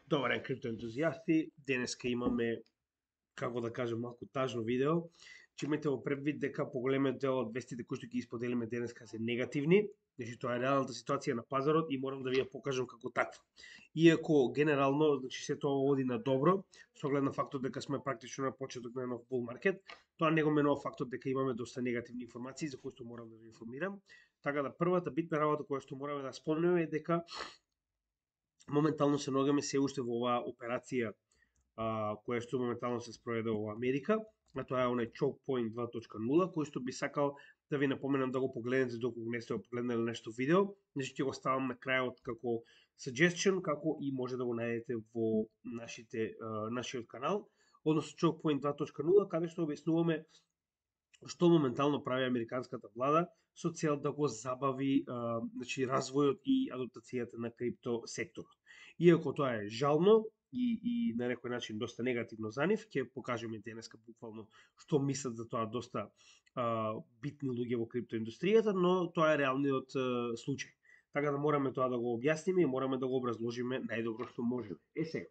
Добар ден, криптоентузијасти. Денеска имаме, како да кажем, малку тажно видео. Че имате во предвид дека поголемиот дел од вестите кои што ги исподелиме денеска се негативни. Значи тоа е реалната ситуација на пазарот и морам да ви ја покажам како таква. Иако генерално, значи се тоа води на добро, со оглед на фактот дека сме практично на почеток на нов бул маркет, тоа не го менува фактот дека имаме доста негативни информации за кои што морам да ви информирам. Така да првата битна работа која што мораме да спомнеме е дека моментално се наоѓаме се уште во оваа операција која што моментално се спроведе во Америка, а тоа е онај Choke Point 2.0, кој што би сакал да ви напоменам да го погледнете доколку не сте го погледнали нешто видео. Значи ќе го ставам на крајот како suggestion, како и може да го најдете во нашиот канал, односно Choke Point 2.0, каде што објаснуваме што моментално прави американската влада со цел да го забави значи развојот и адаптацијата на крипто секторот. Иако тоа е жално и на некој начин доста негативно за нив, ќе покажеме денеска буквално што мислат за тоа доста битни луѓе во криптоиндустријата, но тоа е реалниот случај. Така да мораме тоа да го објасниме и мораме да го образложиме најдобро што можеме. Сега,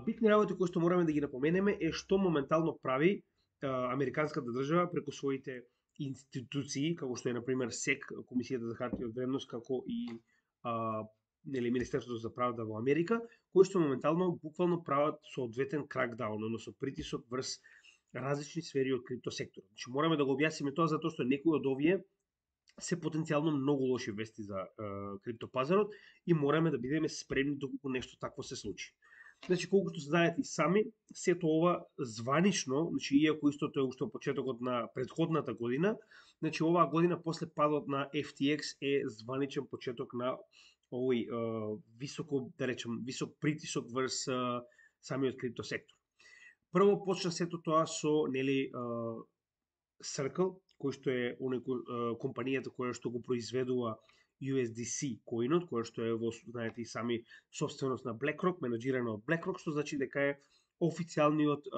битни работи кои што мораме да ги напоменеме е што моментално прави американската држава преку своите институции, како што е например СЕК, Комисијата за хартија од вредност, како и Министерството за правда во Америка, кои што моментално буквално прават соодветен кракдаун, односно притисок врз различни сфери од криптосекторот. Значи мораме да го објасниме тоа затоа што некои од овие се потенцијално многу лоши вести за криптопазарот и мораме да бидеме спремни доколку нешто такво се случи. Значи, колку што се знаете и сами, сето ова званично, значи, иако истото е уште почетокот на предходната година, значи, оваа година после падот на FTX е званичен почеток на овој високо, да речем, висок притисок врз самиот криптосектор. Прво почна сето тоа со, Circle, кој што е компанијата која што го произведува USDC коинот, кој што е во, знаете и сами, собственост на BlackRock, менаџирано од BlackRock, што значи дека е официјалниот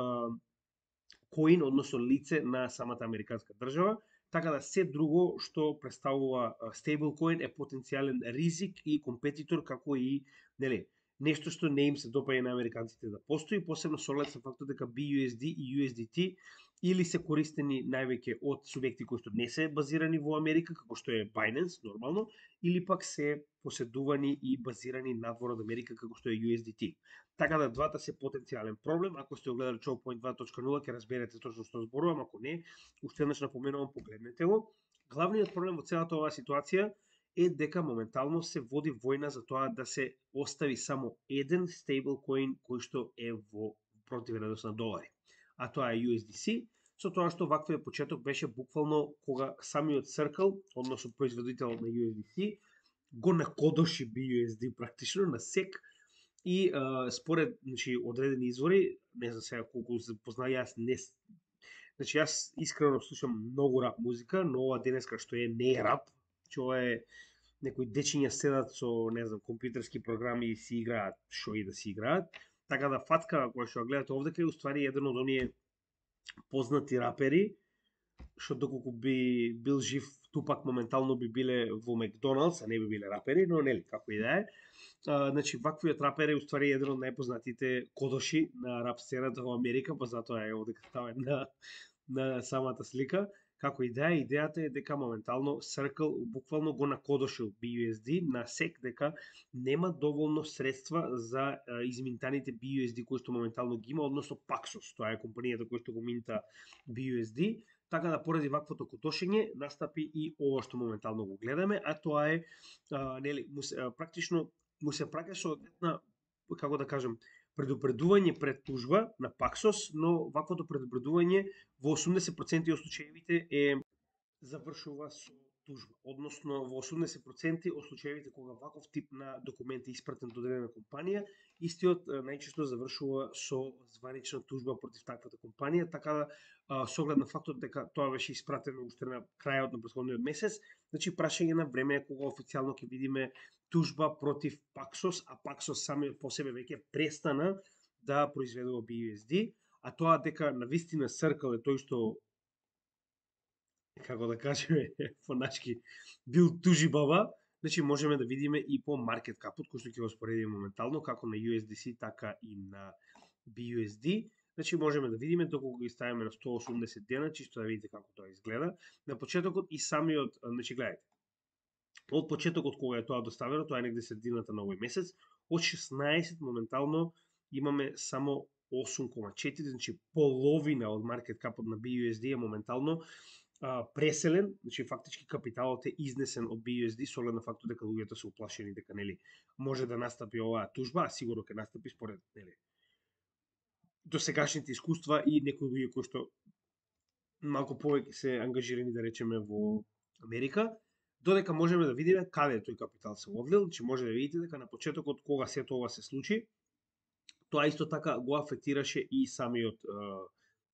коин, односно лице на самата американска држава, така да се друго што представува стейблкоин е потенцијален ризик и компетитор, како и, нешто што не им се допаѓа на американците да постои, посебно со оглед на фактот дека BUSD и USDT или се користени највеќе од субјекти кои што не се базирани во Америка, како што е Binance, нормално, или пак се поседувани и базирани надвор од Америка, како што е USDT. Така да двата се потенцијален проблем. Ако сте огледали Choke Point 2.0, ќе разберете точно што зборувам, ако не, уште еднаш напоменувам, погледнете го. Главниот проблем во целата оваа ситуација е дека моментално се води војна за тоа да се остави само еден стейблкоин кој што е во противвредност на долари. А тоа е USDC, со тоа што ваквиот почеток беше буквално кога самиот Circle, односно производител на USDC, го накодоши BUSD практично на SEC и според одредени извори, не знам сега колку се познаја, јас искрено слушам многу рап музика, но ова денеска што е не е рап, ова е некои дечиња седат со, не знам, компјутерски програми и си играат шо и да си играат. Така да фатка која што гледате овде е уствари еден од оние познати рапери, што доколку би бил жив Тупак моментално би биле во Макдоналдс, а не би биле рапери, но како и да е. Значи, ваквиот рапер е уствари еден од најпознатите кодоши на рап сцената во Америка, па затоа е овде ставен на самата слика. Како и да е, идејата е дека моментално Circle буквално го накодошил BUSD на SEC дека нема доволно средства за изминтаните BUSD кои што моментално ги има, односно Paxos, тоа е компанијата која што го минта BUSD, така да поради ваквото кодошење настапи и ова што моментално го гледаме, а тоа е практично му се праќа со една, како да кажем, предупредување пред тужба на Paxos, но ваквото предупредување во 80% од случаевите завршува со тужба. Односно, во 80% од случаевите кога ваков тип на документ е испратен до одредена компанија, истиот најчесто завршува со званична тужба против таквата компанија, така да со оглед на фактот дека тоа беше испратено уште на крајот на претходниот месец, значи прашање на време е кога официјално ќе видиме тужба против Paxos, а Paxos самиот по себе веќе престана да произведува BUSD, а тоа дека навистина Circle е тој што, како да кажеме, фоначки, бил тужибаба, значи можеме да видиме и по маркет капот, кој што ќе го споредиме моментално, како на USDC, така и на BUSD. Значи можеме да видиме доколку ги ставиме на 180 дена, чисто да видите како тоа изгледа. На почетокот и самиот, значи гледајте, од почетокот кога е тоа доставено, тоа е негде средината на овој месец, од 16 моментално имаме само 8,4, значи половина од маркет капот на BUSD е моментално преселен, значи фактички капиталот е изнесен од BUSD со оглед на фактот дека луѓето се уплашени дека нели може да настапи оваа тужба, а сигурно ќе настапи според нели досегашните искуства и некои луѓе кои што малку повеќе се ангажирани да речеме во Америка, додека можеме да видиме каде тој капитал се одлил, значи може да видите дека на почетокот кога сето ова се случи, тоа исто така го афектираше и самиот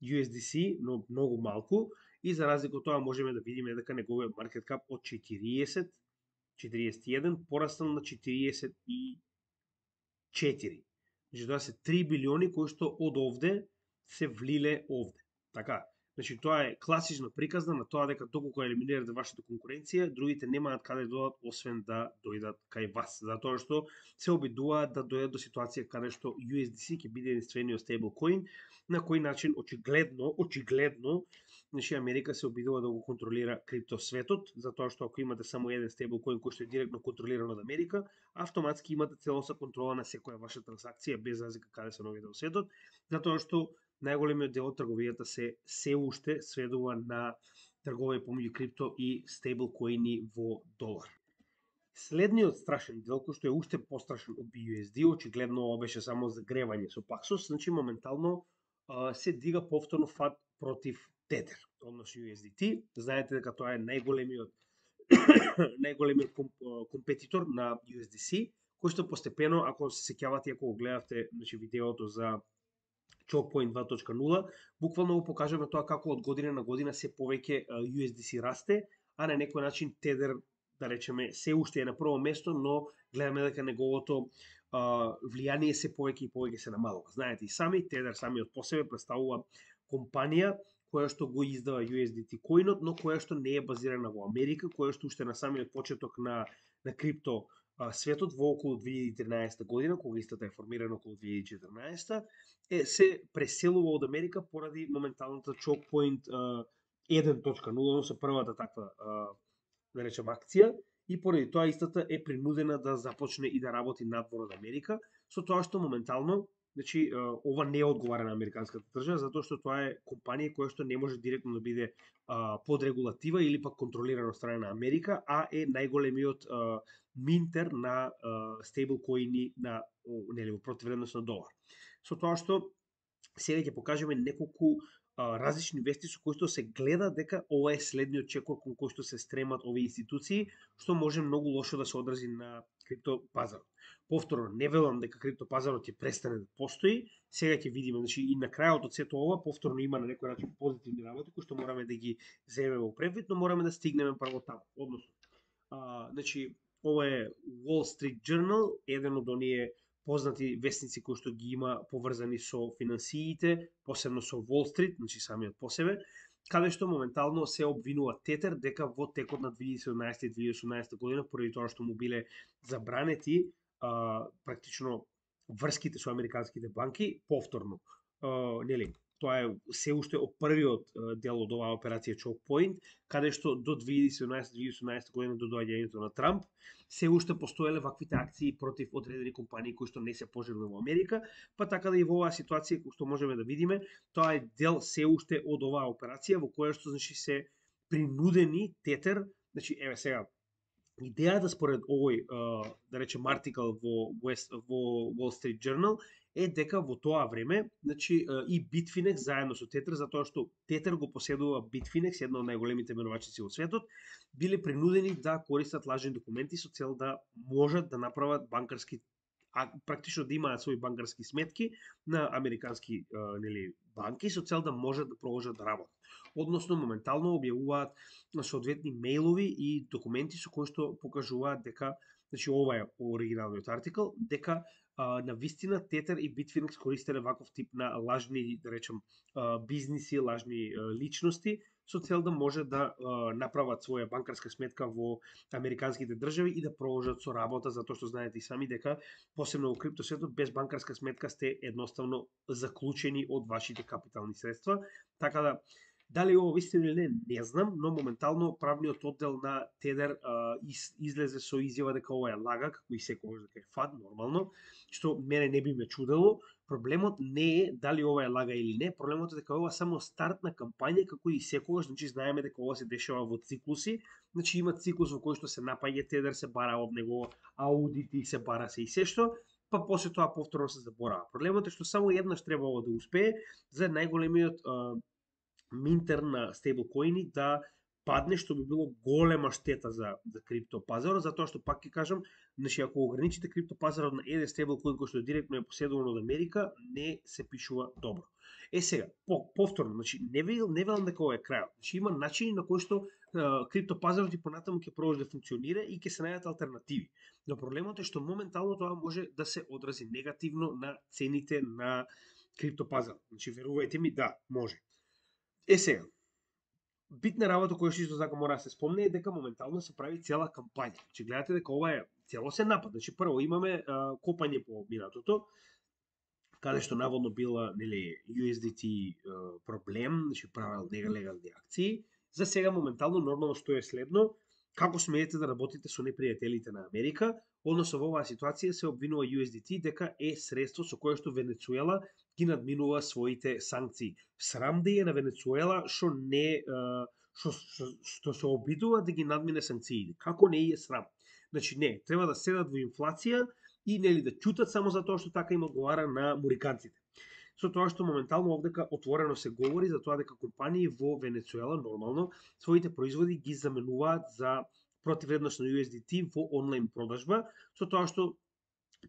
USDC, но многу малку, и за разлика од тоа можеме да видиме дека неговиот маркет кап од 41 пораснал на 44. Значи тоа се 3 билиони кои што од овде се влиле овде. Така, значи тоа е класична приказна на тоа дека доколку елиминирате вашата конкуренција, другите немаат каде да дојдат освен да дојдат кај вас, затоа што се обидуваат да дојдат до ситуација каде што USDC ќе биде единствениот стейблкоин, на кој начин очигледно, значи Америка се обидува да го контролира криптосветот, затоа што ако имате само еден стейблкоин кој што е директно контролиран од Америка, автоматски имате целосна контрола на секоја ваша транзакција без разлика каде се наоѓате во светот, затоа што најголемиот дел од трговијата се уште сведува на трговија помеѓу крипто и стейблкоини во долар. Следниот страшен дел, кој што е уште пострашен од BUSD, очигледно ова беше само загревање со Paxos, значи моментално се дига повторно фат против Tether, односно USDT. Знаете дека тоа е најголемиот компетитор на USDC, кој што постепено, ако се сеќавате, ако го гледавте, значи видеото за ChokePoint 2.0, буквално го покажаме тоа како од година на година се повеќе USDC расте, а на некој начин Tether, да речеме, се уште е на прво место, но гледаме дека неговото влијание се повеќе и повеќе се намалува. Знаете и сами, Tether самиот по себе представува компанија која што го издава USDT коинот, но која што не е базирана во Америка, која што уште на самиот почеток на крипто светот во околу 2013 година, кога истата е формирана околу 2014, се преселува од Америка поради моменталната ChokePoint 1.0, со првата таква, да речем, акција, и поради тоа истата е принудена да започне и да работи надвор од Америка, со тоа што моментално, значи, ова не одговара на американската држава, затоа што тоа е компанија која што не може директно да биде под регулатива или пак контролирана од страна на Америка, а е најголемиот минтер на стейблкоини на нели во противвредност на долар. Со тоа што сега ќе покажеме неколку различни вести со кои што се гледа дека ова е следниот чекор кон кој што се стремат овие институции, што може многу лошо да се одрази на криптопазарот. Повторно, не велам дека криптопазарот ќе престане да постои, сега ќе видиме, значи и на крајот од сето ова, повторно има на некој начин позитивни работи кои што мораме да ги земеме во предвид, но мораме да стигнеме прво таму. Односно, значи ова е Wall Street Journal, еден од оние познати вестници кои што ги има поврзани со финансиите, посебно со Wall Street, значи самиот по себе, каде што моментално се обвинува Tether дека во текот на 2017 и 2018 година, поради тоа што му биле забранети практично врските со американските банки, повторно, нели, тоа е се уште од првиот дел од оваа операција ChokePoint, каде што до 2017-2018 година до доаѓањето на Трамп, се уште постоеле ваквите акции против одредени компании кои што не се пожелни во Америка, па така да и во оваа ситуација кој што можеме да видиме, тоа е дел се уште од оваа операција во која што значи се принудени Tether, значи еве сега идејата според овој да речем артикал во Wall Street Journal е дека во тоа време, значи и Bitfinex заедно со Tether, затоа што Tether го поседува Bitfinex, една од најголемите менувачици во светот, биле принудени да користат лажни документи со цел да можат да направат банкарски, практично да имаат своји банкарски сметки на американски нели банки со цел да можат да продолжат да работат. Односно моментално објавуваат соодветни мејлови и документи со кои што покажуваат дека, значи ова е оригиналниот артикал, дека на вистина Тетер и Bitfinex користеле ваков тип на лажни, да речем, бизниси, лажни личности, со цел да може да направат своја банкарска сметка во американските држави и да продолжат со работа, затоа што знаете и сами дека посебно во криптосветот без банкарска сметка сте едноставно заклучени од вашите капитални средства. Така да дали ово вистина или не знам, но моментално правниот оддел на Тедер излезе со изјава дека ова е лага, како и секогаш дека е фад, нормално, што мене не би ме чудело. Проблемот не е дали ова е лага или не, проблемот е дека ова само старт на кампања, како и секогаш, значи знаеме дека ова се дешава во циклуси, значи има циклус во кој што се напаѓа Тедер, се бара од него аудити, се бара се и се што, па после тоа повторно се заборава. Проблемот е што само еднаш требало да успее за најголемиот минтер на стейблкоини да падне, што би било голема штета за криптопазарот, затоа што пак ќе кажам, значи ако ограничите криптопазарот на еден стейблкоин кој што директно е поседуван од Америка, не се пишува добро. Сега, повторно, значи не велам дека ова е крајот. Значи има начини на кои што криптопазарот и понатаму ќе продолжи да функционира и ќе се најдат алтернативи. Но проблемот е што моментално тоа може да се одрази негативно на цените на криптопазарот. Значи верувајте ми, да, може. Сега, битна работа која што исто така мора да се спомне е дека моментално се прави цела кампања. Значи гледате дека ова е целосен напад. Значи прво имаме копање по минатото, каде што наводно била, нели, USDT проблем, значи правел нелегални акции. За сега моментално нормално што е следно, како смеете да работите со непријателите на Америка, односно во оваа ситуација се обвинува USDT дека е средство со кое што Венецуела ги надминува своите санкции. Срам да е на Венецуела што не што се обидува да ги надмине санкциите. Како не е срам? Значи не, треба да седат во инфлација и нели да ќутат само затоа што така им одговара на муриканците. Со тоа што моментално овдека отворено се говори за тоа дека компании во Венецуела нормално своите производи ги заменуваат за противвредност на USDT во онлайн продажба, со тоа што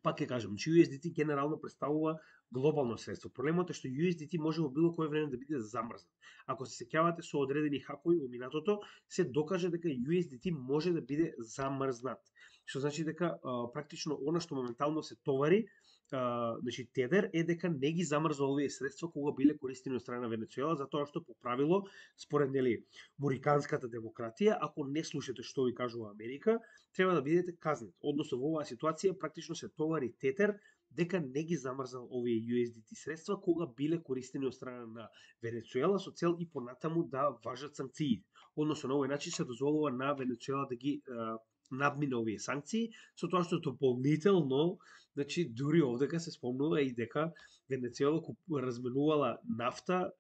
пак ќе кажам, че USDT генерално представува глобално средство. Проблемот е што USDT може во било кое време да биде замрзнат. Ако се сеќавате со одредени хакови во минатото, се докаже дека USDT може да биде замрзнат. Што значи дека практично она што моментално се товари, значи Тедер, е дека не ги замрзва овие средства кога биле користени од страна на Венецуела, затоа што по правило, според нели муриканската демократија, ако не слушате што ви кажува Америка, треба да бидете казнет. Односно во оваа ситуација практично се товари Тетер дека не ги замрзнал овие USDT средства кога биле користени од страна на Венецуела со цел и понатаму да важат санкции. Односно на овој начин се дозволува на Венецуела да ги надмине овие санкции, со тоа што дополнително, значи дури овдека се спомнува и дека Венецуела разменувала нафта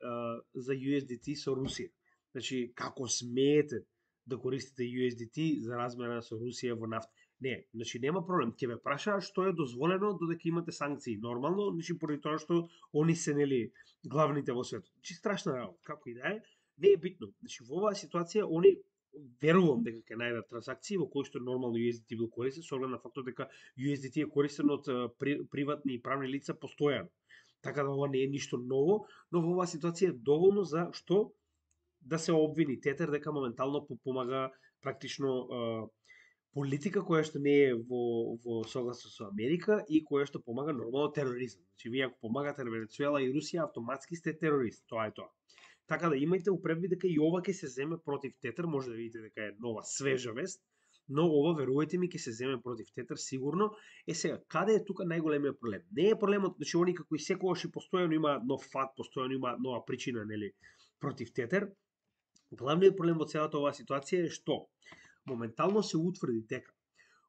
за USDT со Русија. Значи како смеете да користите USDT за размена со Русија во нафта? Не, значи нема проблем. Ќе ве прашаат што е дозволено додека имате санкции. Нормално, значи поради тоа што они се нели главните во светот. Значи страшна работа, како и да е, не е битно. Значи во оваа ситуација они верувам дека ќе најдат трансакции во кои што нормално USDT бил користен, со оглед на фактот дека USDT е користен од приватни и правни лица постојано. Така да ова не е ништо ново, но во оваа ситуација е доволно за што да се обвини Тетер дека моментално помага практично политика која што не е во согласно со Америка и која што помага нормално тероризам. Значи вие ако помагате на Венецуела и Русија, автоматски сте терорист. Тоа е тоа. Така да имајте упредвид дека и ова ќе се земе против Тетер, може да видите дека е нова свежа вест, но ова верувајте ми ќе се земе против Тетер сигурно. Сега, каде е тука најголемиот проблем? Не е проблемот, значи они како и секогаш и постојано има нов фат, постојано има нова причина, нели, против Тетер. Главниот проблем во целата оваа ситуација е што моментално се утврди дека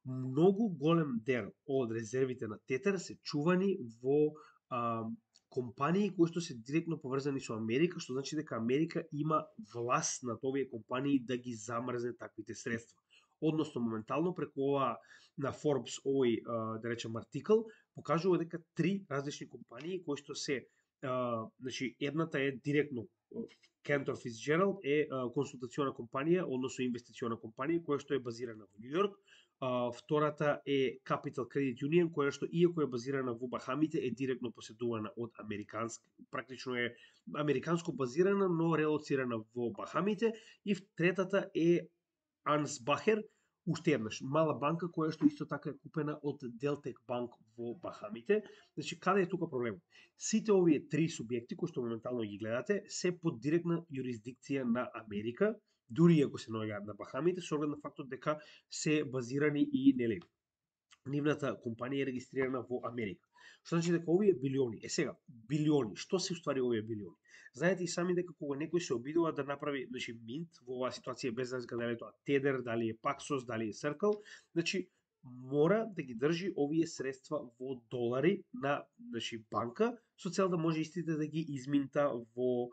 многу голем дел од резервите на Тетер се чувани во компании кои што се директно поврзани со Америка, што значи дека Америка има власт над овие компании да ги замрзне таквите средства. Односно, моментално преку ова на Forbes овој, да речем, артикл, покажува дека 3 различни компании кои што се, значи, едната е директно Cantor Fitzgerald е консултациона компанија, односно инвестициона компанија која што е базирана во Њу Йорк. Втората е Capital Credit Union, која што иако е базирана во Бахамите, е директно поседувана од практично е американско базирана, но релоцирана во Бахамите. И третата е Ansbacher, уште еднаш, мала банка која што исто така е купена од Deltec Bank во Бахамите. Значи, каде е тука проблемот? Сите овие три субјекти кои што моментално ги гледате се под директна юрисдикција на Америка, дури ако се наоѓаат на Бахамите, со оглед на фактот дека се базирани и нели нивната компанија е регистрирана во Америка. Што значи дека овие билиони, сега, билиони, што се уствари овие билиони? Знаете и сами дека кога некој се обидува да направи, значи, минт во оваа ситуација, без разлика дали е тоа Tether, дали е Paxos, дали е Circle, значи, мора да ги држи овие средства во долари на, значи, банка, со цел да може истите да ги изминта во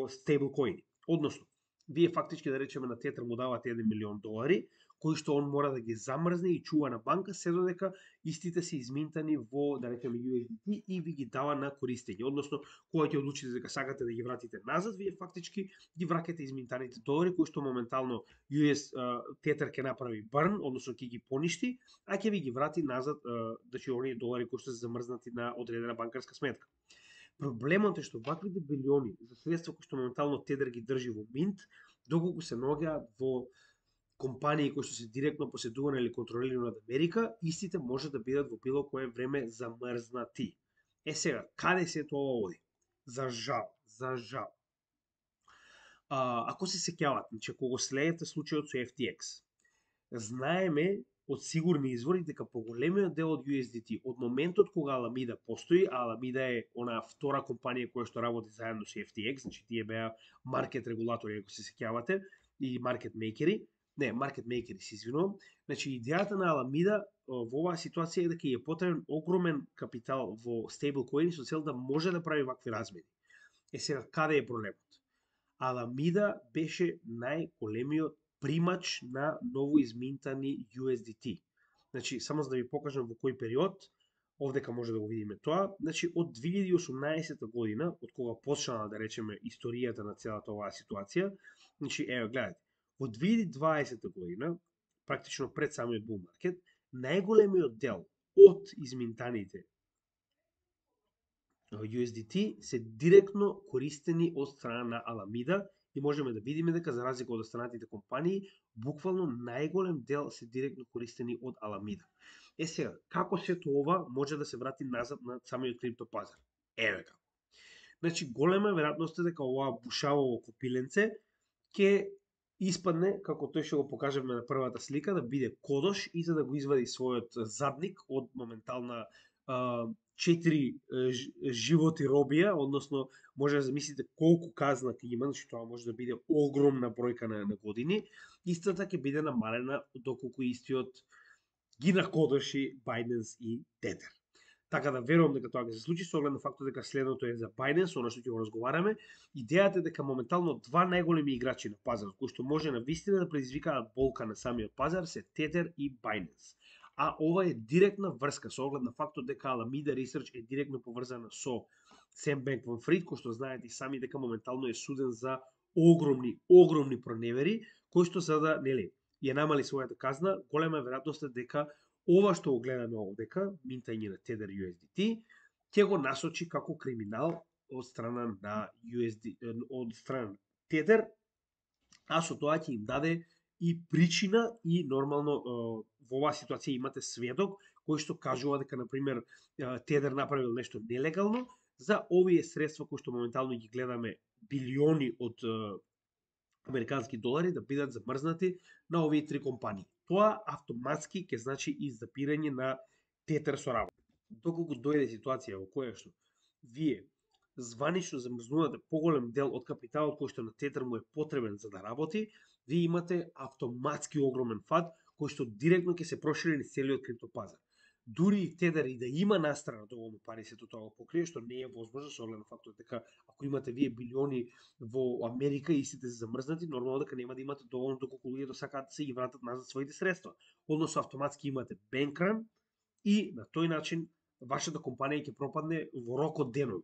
стейблкоини. Односно, вие фактички, да речеме, на Tether му давате 1 милион долари, кои што он мора да ги замрзне и чува на банка, се додека истите се изминтани во, да речеме, USDT и ви ги дава на користење. Односно, кога ќе одлучите дека сакате да ги вратите назад, вие фактички ги враќате изминтаните долари, кои што моментално Tether ќе направи burn, односно ќе ги поништи, а ќе ви ги врати назад, значи оние долари кои што се замрзнати на одредена банкарска сметка. Проблемот е што ваквите билиони за средства кои што моментално Tether ги држи во минт, доколку се наоѓаат во компании кои што се директно поседувани или контролирани од Америка, истите може да бидат во било кое време замрзнати. Сега, каде се тоа оди? За жал. Ако се сеќавате, значи ако го следите случајот со FTX, знаеме од сигурни извори дека поголемиот дел од USDT од моментот кога Alameda постои, а Alameda е онаа втора компанија која што работи заедно со FTX, значи тие беа маркет регулатори, ако се сеќавате, и маркет мейкери, се извинувам. Значи, идејата на Alameda во оваа ситуација е дека е потребен огромен капитал во стейблкоини со цел да може да прави вакви размери. Сега, каде е проблемот? Alameda беше најголемиот примач на новоизминтани USDT. Значи, само за да ви покажам во кој период, овдека може да го видиме тоа, значи од 2018 година, од кога почнала, да речеме, историјата на целата оваа ситуација, значи, ево, гледате, во 2020 година, практично пред самиот bull market, најголемиот дел од изминтаните USDT се директно користени од страна на Alameda и можеме да видиме дека за разлика од останатите компании, буквално најголем дел се директно користени од Alameda. Сега, како сето ова може да се врати назад на самиот крипто пазар? Еве како. Значи, голема веројатност е дека оваа бушавово копиленце ќе испадне, како тој што го покажавме на првата слика, да биде кодош и за да го извади својот задник од моментална 4 животи робија, односно може да замислите колку казна ќе има, значи тоа може да биде огромна бројка на години, истата ќе биде намалена доколку истиот ги накодоши Binance и Tether. Така да верувам дека тоа ќе се случи, со оглед на фактот дека следното е за Binance, оно што ќе го разговараме. Идејата е дека моментално два најголеми играчи на пазарот, кои што може на вистина да предизвикаат болка на самиот пазар, се Tether и Binance. А ова е директна врска со оглед на фактот дека Alameda Research е директно поврзана со Sam Bankman-Fried, кој што знаете и сами дека моментално е суден за огромни проневери, кои што за да, нели, ја намали својата казна, голема веројатност е дека ова што го гледаме овдека, минтање на Tether USDT, ќе го насочи како криминал од страна на од страна Tether, а со тоа ќе им даде и причина и нормално во оваа ситуација имате сведок кој што кажува дека на пример Tether направил нешто нелегално за овие средства кои што моментално ги гледаме билиони од американски долари да бидат замрзнати на овие три компании. Тоа автоматски ќе значи и запирање на Tether со работа. Доколку дојде ситуација во која што вие званично замрзнувате поголем дел од капиталот кој што на Tether му е потребен за да работи, вие имате автоматски огромен фат кој што директно ќе се прошири низ целиот криптопазар. Дури и Tether и да има настрана доволно пари сето тоа го покрие, што не е возможно со оглед на фактот дека ако имате вие билиони во Америка и сите се замрзнати, нормално дека нема да имате доволно доколку луѓето сакаат да се ги вратат назад своите средства. Односно автоматски имате бенкран и на тој начин вашата компанија ќе пропадне во рок од денови.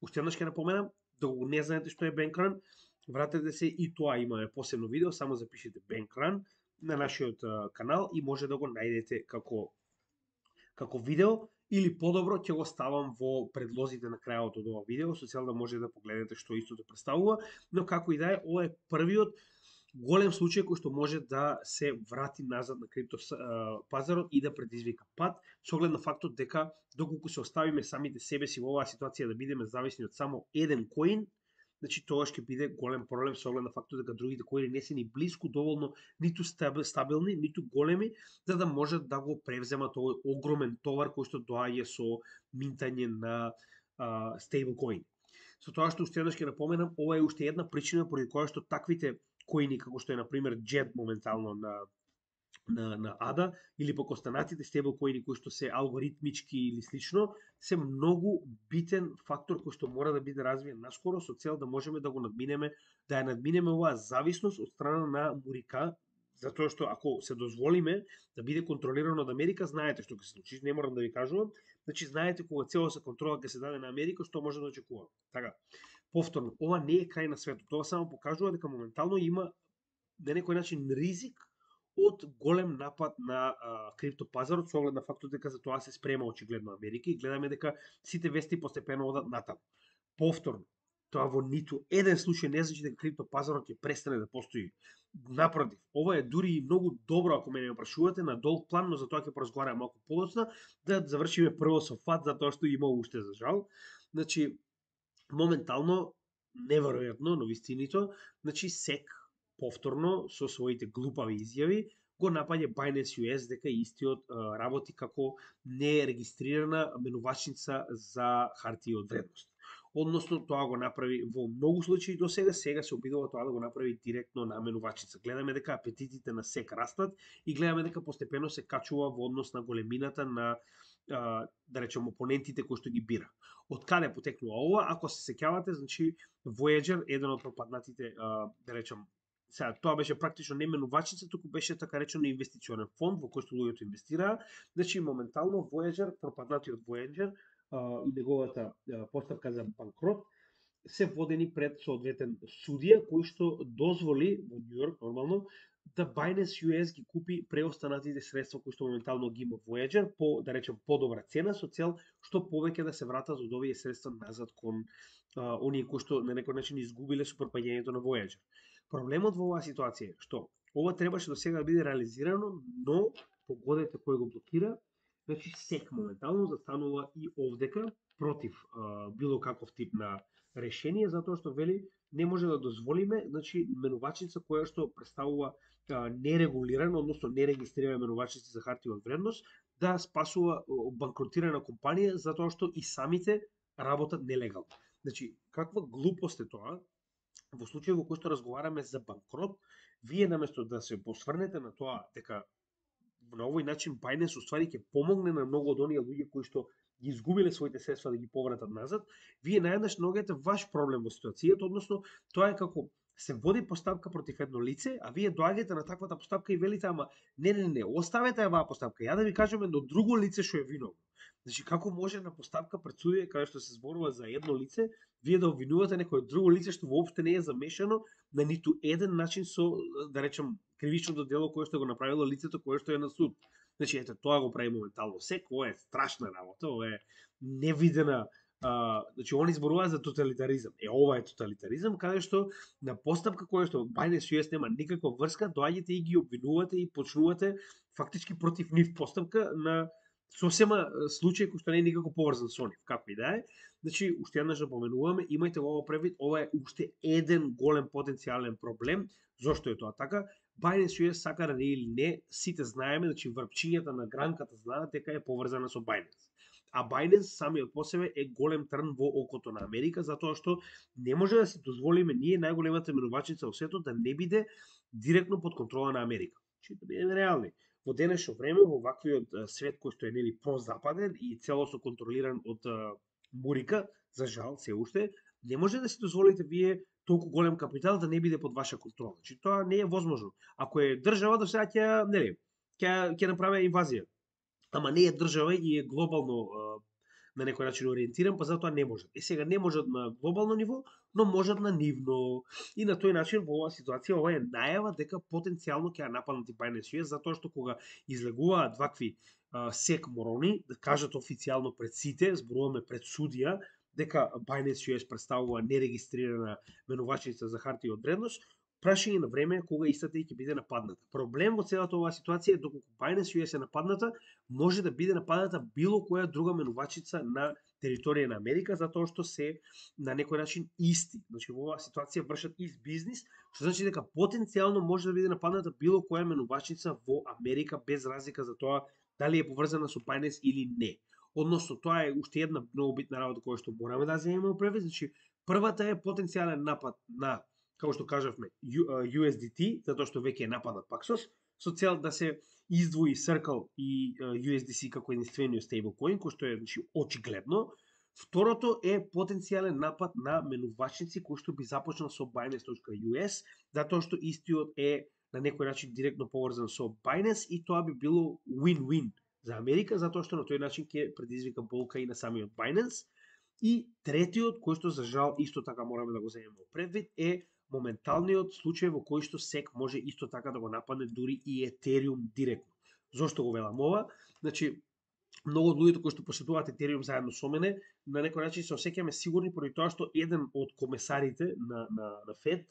Уште еднаш ќе напоменам, доколку не знаете што е бенкран, вратете се и тоа имаме посебно видео, само запишете бенкран на нашиот канал и може да го најдете како видео, или подобро ќе го ставам во предлозите на крајот од ова видео, со цел да може да погледнете што истото представува, но како и да е, ова е првиот голем случај кој што може да се врати назад на крипто пазарот и да предизвика пат, со оглед на фактот дека доколку се оставиме самите себе си во оваа ситуација да бидеме зависни од само еден коин, значи тоа ќе биде голем проблем со оглед на фактот дека другите коини не се ни блиску доволно ниту стабилни, ниту големи, за да можат да го превземат овој огромен товар кој што доаѓа со минтање на стейблкоини. Со тоа што уште еднаш ќе напоменам, ова е уште една причина поради која што таквите коини како што е на пример JET моментално на ADA или пак останатите стейблкоини кои што се алгоритмички или слично, се многу битен фактор кој што мора да биде развиен наскоро со цел да можеме да го надминеме, да ја надминеме оваа зависност од страна на Мурика, затоа што ако се дозволиме да биде контролирано од Америка, знаете што ќе се случи, не морам да ви кажувам, значи знаете кога целоса контрола ќе се даде на Америка, што може да очекуваме. Така, повторно, ова не е крај на светот, тоа само покажува дека моментално има на некој начин ризик од голем напад на криптопазарот, со оглед на фактот дека за тоа се спрема очигледно Америка и гледаме дека сите вести постепено одат натаму. Повторно, тоа во ниту еден случај не значи дека криптопазарот ќе престане да постои. Напротив, ова е дури и многу добро ако мене прашувате на долг план, но за тоа ќе поразговараме малку подоцна, да завршиме прво со фат затоа што има уште за жал. Значи, моментално неверојатно, но вистинито, значи SEC повторно со своите глупави изјави го напаѓа Binance US дека истиот работи како нерегистрирана менувачница за хартии од вредност. Односно, тоа го направи во многу случаи до сега се обидува тоа да го направи директно на менувачница. Гледаме дека апетитите на SEC растат и гледаме дека постепено се качува во однос на големината на да речем опонентите кои што ги бира. Од каде потекнува ова? Ако се сеќавате, значи Voyager, еден од пропаднатите, да речем, сега тоа беше практично не менувачница, туку беше така речено инвестиционен фонд во кој што луѓето инвестираа. Значи моментално Voyager, пропаднатиот Voyager и неговата поставка за банкрот се водени пред соодветен судија кој што дозволи во Нью Йорк нормално да Binance US ги купи преостанатите средства кои што моментално ги има Voyager по, да речем, подобра цена со цел што повеќе да се вратат од овие средства назад кон оние кои што на некој начин изгубиле со пропаѓањето на Voyager. Проблемот во оваа ситуација е што ова требаше до сега да биде реализирано, но погодете кој го блокира, значи SEC моментално застанува и овдека против било каков тип на решение, затоа што вели не може да дозволиме, значи менувачница која што представува нерегулирана, односно нерегистрирана менувачница за хартии од вредност, да спасува банкротирана компанија затоа што и самите работат нелегално. Значи, каква глупост е тоа? Во случај во кој што разговараме за банкрот, вие наместо да се посврнете на тоа дека на овој начин Binance уствари ќе помогне на многу од оние луѓе кои што ги изгубиле своите средства да ги повратат назад, вие наеднаш наоѓате ваш проблем во ситуацијата, односно тоа е како се води постапка против едно лице, а вие доаѓате на таквата постапка и велите ама не, оставете ја оваа постапка, ја да ви кажеме до друго лице што е виновно. Значи како може на постапка пред судија каде што се зборува за едно лице, вие да обвинувате некое друго лице што воопшто не е замешано на ниту еден начин со, да речем, кривичното дело кое што го направило лицето кое што е на суд. Значи, ете, тоа го прави моментално SEC, ова е страшна работа, ова е невидена, значи, они зборуваат за тоталитаризам. Ова е тоталитаризам, каде што на постапка која што Binance US нема никаква врска, доаѓате и ги обвинувате и почнувате фактички против нив постапка на сосема случај кој што не е никако поврзан со нив, како и да е. Значи, уште еднаш да поменуваме, имајте го ово превид, ова е уште еден голем потенцијален проблем. Зошто е тоа така? Binance US сака да или не, сите знаеме, значи врпчињата на гранката знаат дека е поврзана со Binance. А Binance самиот по себе е голем трн во окото на Америка, затоа што не може да си дозволиме ние најголемата менувачница во светот да не биде директно под контрола на Америка. Значи, да бидеме реални. Во денешно време, во ваквиот свет кој што е нели прозападен и целосно контролиран од Мурика, за жал, се уште, не може да си дозволите вие толку голем капитал да не биде под ваша контрола. Значи тоа не е возможно. Ако е држава до сега ќе, нели, ќе направи инвазија. Ама не е држава и е глобално на некој начин ориентиран, па затоа не можат. Сега не можат на глобално ниво, но можат на нивно. И на тој начин во оваа ситуација ова е најава дека потенцијално ќе ја нападнат и Binance US, затоа што кога излегуваат вакви SEC морони, да кажат официјално пред сите, зборуваме пред судија, дека Binance US представува нерегистрирана менувачница за хартии од вредност, прашање на време кога истата ќе биде нападната. Проблем во целата оваа ситуација е доколку Binance US е нападната, може да биде нападната било која друга менувачица на територија на Америка, затоа што се на некој начин исти. Значи во оваа ситуација вршат ист бизнис, што значи дека потенцијално може да биде нападната било која менувачица во Америка без разлика за тоа дали е поврзана со Binance или не. Односно, тоа е уште една многу битна работа која што мораме да земеме превид. Значи, првата е потенцијален напад на, како што кажавме, USDT, затоа што веќе е нападнат Paxos, со цел да се издвои Circle и USDC како единствениот стейблкоин, кој што е, значи, очигледно. Второто е потенцијален напад на менувачници кој што би започнал со Binance.US, затоа што истиот е на некој начин директно поврзан со Binance и тоа би било win-win за Америка, затоа што на тој начин ќе предизвика болка и на самиот Binance. И третиот, кој што за жал исто така мораме да го земеме предвид, е моменталниот случај во кој што SEC може исто така да го нападне дури и Ethereum директно. Зошто го велам ова? Значи, многу од луѓето кои што посетуваат Ethereum заедно со мене, на некој начин се осеќаме сигурни поради тоа што еден од комесарите на Fed,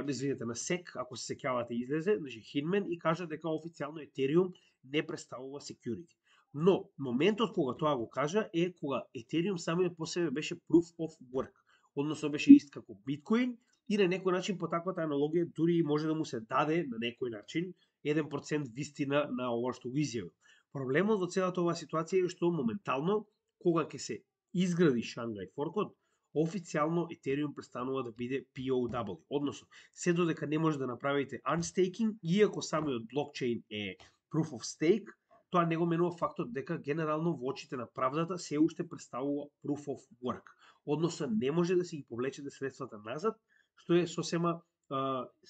извинете, на SEC, ако се сеќавате, излезе, значи Hinman, и кажа дека официјално Ethereum не представува security. Но, моментот кога тоа го кажа е кога Ethereum самиот по себе беше proof of work, односно беше ист како Bitcoin и на некој начин по таквата аналогија дури може да му се даде на некој начин 1% вистина на ова што го изјавил. Проблемот во целата оваа ситуација е што моментално кога ќе се изгради Шангај форкот, официјално Ethereum престанува да биде POW, односно се додека не може да направите unstaking, иако самиот блокчейн е proof of stake, тоа не го менува фактот дека генерално во очите на правдата се уште представува proof of work. Односно не може да се ги повлечете средствата назад, што е сосема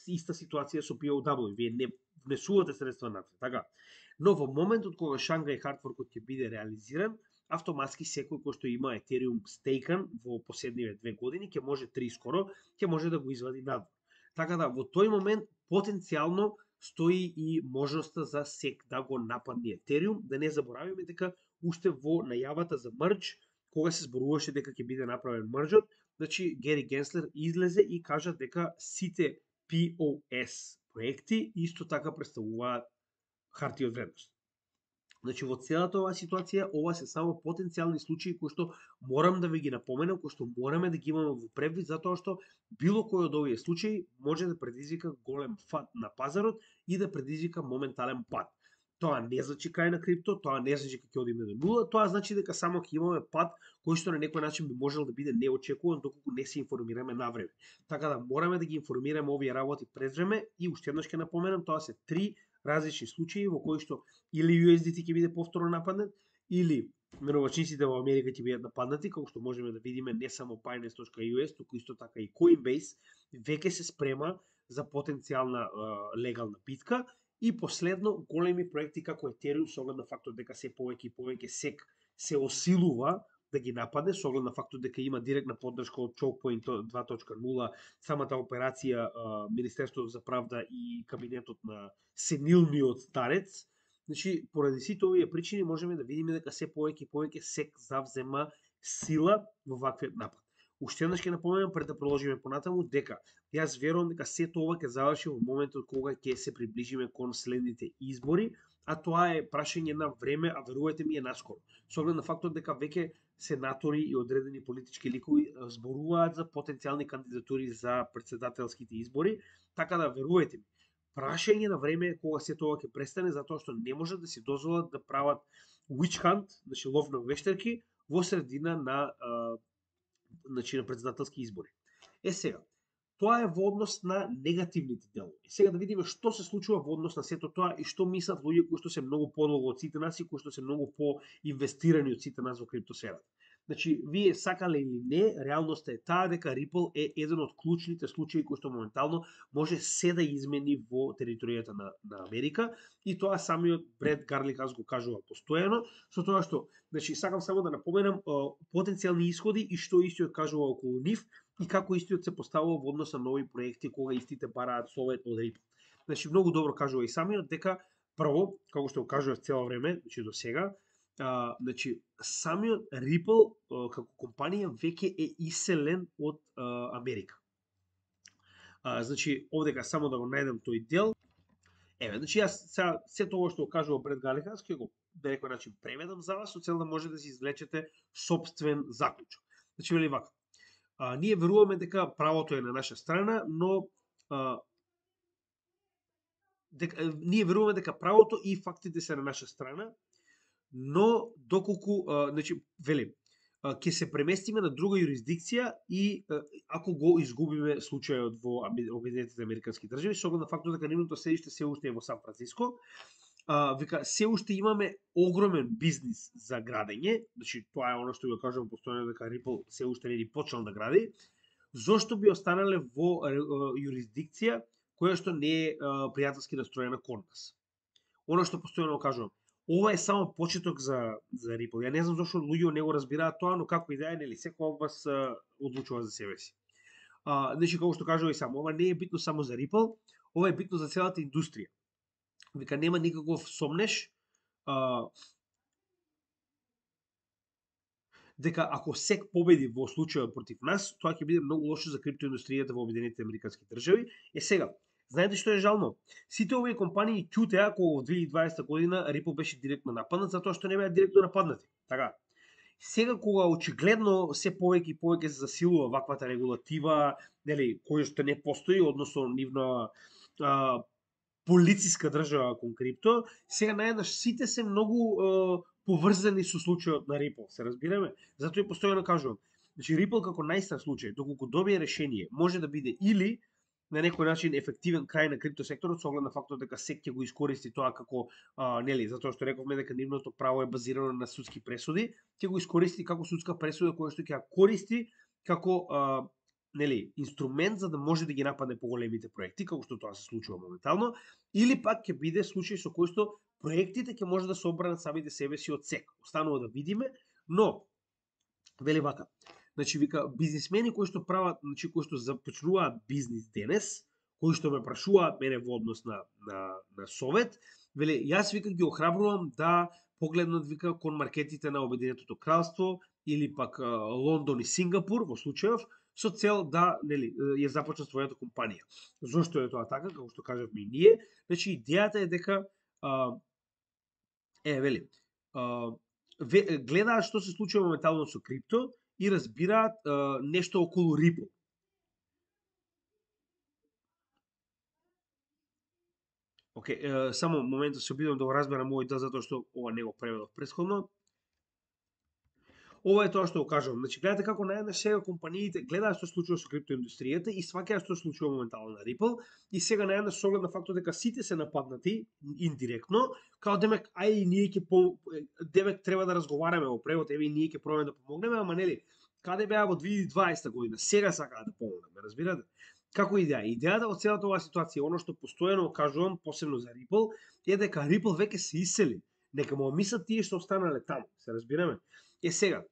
иста ситуација со POW. Вие не внесувате средства назад, така? Но во моментот кога Шангај хардфоркот ќе биде реализиран, автоматски секој кој што има Ethereum стейкан во последниве 2 години, ќе може 3 скоро, ќе може да го извади надвор. Така да, во тој момент, потенцијално стои и можноста за SEC да го нападне Ethereum. Да не заборавиме дека уште во најавата за мрџ, кога се зборуваше дека ќе биде направен мрџот, значи Гери Генслер излезе и кажа дека сите POS проекти исто така представуваат хартија од вредност. Значи, во целата оваа ситуација, ова се само потенцијални случаи кои што морам да ви ги напоменам, кои што мораме да ги имаме во предвид, затоа што било кој од овие случаи може да предизвика голем фат на пазарот и да предизвика моментален пат. Тоа не значи крај на крипто, тоа не значи дека ќе одиме до нула, тоа значи дека само ќе имаме пат кој што на некој начин би можел да биде неочекуван доколку не се информираме на време. Така да мораме да ги информираме овие работи пред време и уште еднаш ќе напоменам, тоа се 3 различни случаи во кои што или USDT ќе биде повторно нападнат, или менувачниците во Америка ќе бидат нападнати, како што можеме да видиме не само Binance.US, туку исто така и Coinbase веќе се спрема за потенцијална легална битка. И последно, големи проекти како Ethereum, со оглед на фактот дека се повеќе и повеќе SEC се осилува да ги нападне, со оглед на фактот дека има директна поддршка од Chokepoint 2.0, самата операција Министерството за правда и кабинетот на сенилниот старец. Значи, поради сите овие причини можеме да видиме дека се повеќе и повеќе SEC завзема сила во ваквиот напад. Уште еднаш ќе напоменам пред да продолжиме понатаму дека јас верувам дека сето ова ќе заврши во моментот кога ќе се приближиме кон следните избори, а тоа е прашање на време, а верувајте ми е наскоро. Со оглед на фактот дека веќе сенатори и одредени политички ликови зборуваат за потенцијални кандидатури за претседателските избори, така да верувајте ми, прашање на време е кога сето ова ќе престане, затоа што не може да си дозволат да прават witch hunt, значи лов на вештарки, во средина на на претседателски избори. Сега, тоа е во однос на негативните делови. Сега да видиме што се случува во однос на сето тоа и што мислат луѓе кои што се многу подолго од сите нас и кои што се многу по-инвестирани од сите нас во криптосферата. Значи, вие сакале или не, реалноста е таа дека Ripple е еден од клучните случаи кои што моментално може се да измени во територијата на Америка, и тоа самиот Бред Гарликас го кажува постојано, со тоа што, значи, сакам само да напоменам потенцијални исходи и што истиот кажува околу нив и како истиот се поставува во однос на нови проекти кога истите бараат совет од Ripple. Значи, многу добро кажува и самиот дека прво, како што го кажува цело време, значи до сега, значи, самиот Ripple како компанија веќе е иселен од Америка. Значи, овдека само да го најдем тој дел. Еве, значи јас сега се тоа што го кажувам пред Галиханс, ќе го на некој начин преведам за вас, со цел да може да си извлечете собствен заклучок. Значи, вели вака. Ние веруваме дека правото е на наша страна, но ние веруваме дека правото и фактите се на наша страна, но доколку, значи, вели, ќе се преместиме на друга юрисдикција и ако го изгубиме случајот во Обединетите американски држави, со оглед на фактот дека нивното седиште се уште е во Сан Франциско, вика, се уште имаме огромен бизнис за градење, значи тоа е оно што го кажувам постојано дека Ripple се уште не ни почнал да гради, зошто би останале во юрисдикција која што не е пријателски настроена кон нас. Оно што постојано кажувам, ова е само почеток за Ripple. Ја не знам зошто луѓе не го разбираат тоа, но како и да е, нели, секој од вас одлучува за себе си. Значи, како што кажува и само, ова не е битно само за Ripple, ова е битно за целата индустрија. Вика, нема никаков сомнеш дека ако SEC победи во случајот против нас, тоа ќе биде многу лошо за криптоиндустријата во Обединетите американски држави. Сега, знаете што е жално? Сите овие компании ќутеа кога во 2020 година Ripple беше директно нападнат затоа што не беа директно нападнати. Така. Сега кога очигледно се повеќе и повеќе се засилува ваквата регулатива, нели, која што не постои, односно нивна полициска држава кон крипто, сега наеднаш сите се многу поврзани со случајот на Ripple, се разбираме? Затоа и постојано кажувам. Значи Ripple како најстар случај, доколку добие решение, може да биде или на некој начин ефективен крај на криптосекторот со оглед на фактот дека SEC ќе го искористи тоа како нели, затоа што рековме дека нивното право е базирано на судски пресуди, ќе го искористи како судска пресуда која што ќе ја користи како нели, инструмент за да може да ги нападне поголемите проекти, како што тоа се случува моментално, или пак ќе биде случај со кој што проектите ќе може да се одбранат самите себе си од SEC. Останува да видиме, но вели вака. Значи вика бизнисмени кои што прават, значи кои што започнуваат бизнис денес, кои што ме прашуваат мене во однос на совет, вели јас вика ги охрабрувам да погледнат вика кон маркетите на Обединетото кралство или пак Лондон и Сингапур во случајов со цел да, нели, ја започнат својата компанија. Зошто е тоа така, како што кажавме и ние? Значи идејата е дека вели, гледаат што се случува моментално со крипто и разбираат нешто околу Ripple. Само моментот се обидам да го разберам овој дел затоа што ова не го преведов претходно. Ова е тоа што го кажувам. Значи, гледате како наеднаш сега компаниите гледаат што се случува со криптоиндустријата и сваќаат што се случува моментално на Ripple и сега наеднаш со оглед на фактот дека сите се нападнати индиректно, као демек ај ние ќе демек треба да разговараме во превод, еве и ние ќе пробаме да помогнеме, ама нели, каде беа во 2020 година, сега сакаат да помогнеме, разбирате? Како идеја? Идејата од целата оваа ситуација, оно што постојано кажувам, посебно за Ripple, е дека Ripple веќе се исели. Нека му мислат тие што останале таму, се разбираме? Сега,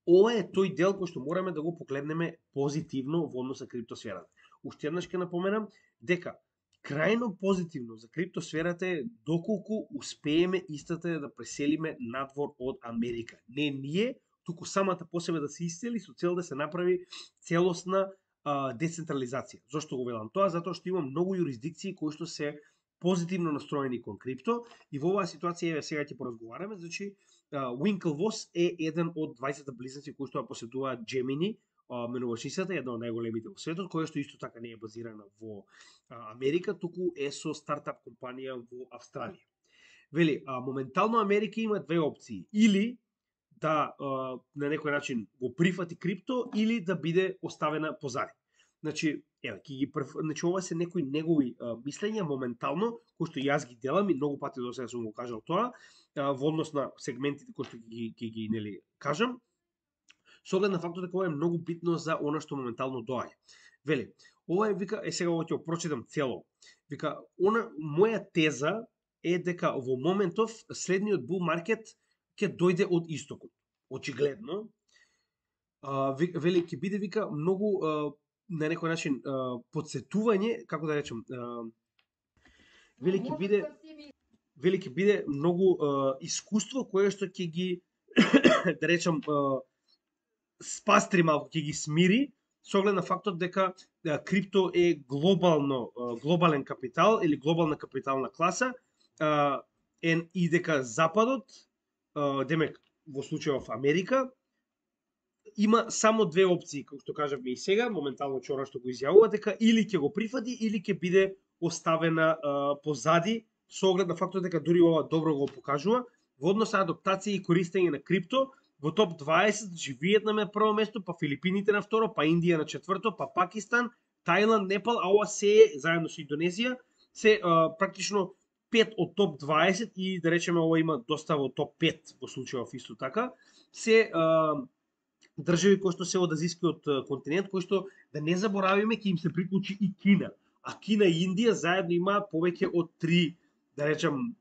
ова е тој дел кој што мораме да го погледнеме позитивно во однос на криптосферата. Уште еднаш ќе напоменам дека крајно позитивно за криптосферата е доколку успееме истата да преселиме надвор од Америка. Не ние, туку самата по себе да се исцели со цел да се направи целосна децентрализација. Зошто го велам тоа? Затоа што има многу юрисдикции кои што се позитивно настроени кон крипто и во оваа ситуација сега ќе поразговараме. Значи Winklevoss е еден од 20 близнаци кои што поседуваат Gemini, менувачницата, една од најголемите во светот, која што исто така не е базирана во Америка, туку е со стартап компанија во Австралија. Вели, моментално Америка има две опции. Или да на некој начин го прифати крипто, или да биде оставена позади. Значи, значи ова се некои негови мислења моментално, кои што јас ги делам и многу пати до сега сум го кажал тоа, во однос на сегментите кои што ги нели кажам, со оглед на фактот дека ова е многу битно за она што моментално доаѓа. Вели, ова е вика, сега ова ќе го прочитам цело. Вика, моја теза е дека во моментов следниот bull market ќе дојде од истокот. Очигледно, вели, ќе биде вика многу на некој начин подсетување, како да речем, вели ќе биде многу искуство кое што ќе ги да речем спастри малку, ќе ги смири со оглед на фактот дека крипто е глобален капитал или глобална капитална класа, и дека Западот, демек во случајов Америка, има само две опции, како што кажавме и сега, моментално вчера што го изјавува, дека или ќе го прифати, или ќе биде оставена позади, со оглед на фактот дека дури ова добро го покажува, во однос на адаптација и користење на крипто, во топ 20, значи Виетнам е прво место, па Филипините на второ, па Индија на четврто, па Пакистан, Тајланд, Непал, а ова се заедно со Индонезија, се практично 5 од топ 20 и да речеме ова има доста во топ 5 во случајов исто така, се држави кои што се од азискиот континент, кои што да не заборавиме ќе им се приклучи и Кина. А Кина и Индија заедно имаат повеќе од 3, да речем,